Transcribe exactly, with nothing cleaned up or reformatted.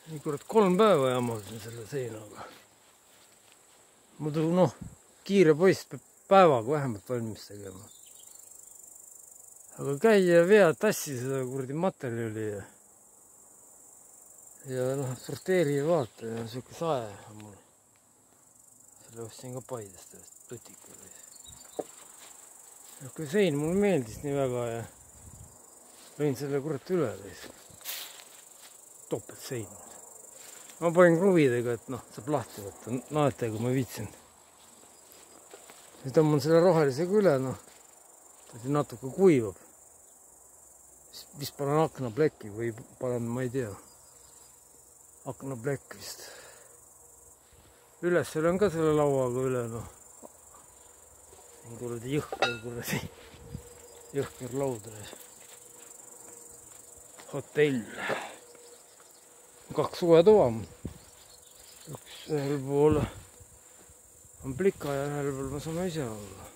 nii kurat kolm päeva jamasin selle seinaga. Muidu noh, kiire poiss peab päevaga vähemalt valmis tegema. Aga käia vea tassi seda kuradi materjali ja ja noh, sorteeri ja vaata ja siuke sae on mul. Selle ostsin ka Paidest tutika. Kui sein mulle meeldis nii väga ja lõin selle kurat üle topelt sein. Ma panin kruvidega, et noh, saab lahti võtta naetega, ma viitsin. Ja tõmban selle rohelisega üle, noh, ta natuke kuivab. Vist panen aknaplekki või panen, ma ei tea, aknaplekk vist. Üles olen ka selle lauaga üle, noh. Siin kuradi jõhker, kuradi jõhker laudades. Hotell. Kaks suvetoa. Üks ühel pool on plika ja ühel pool ma saan ise olla.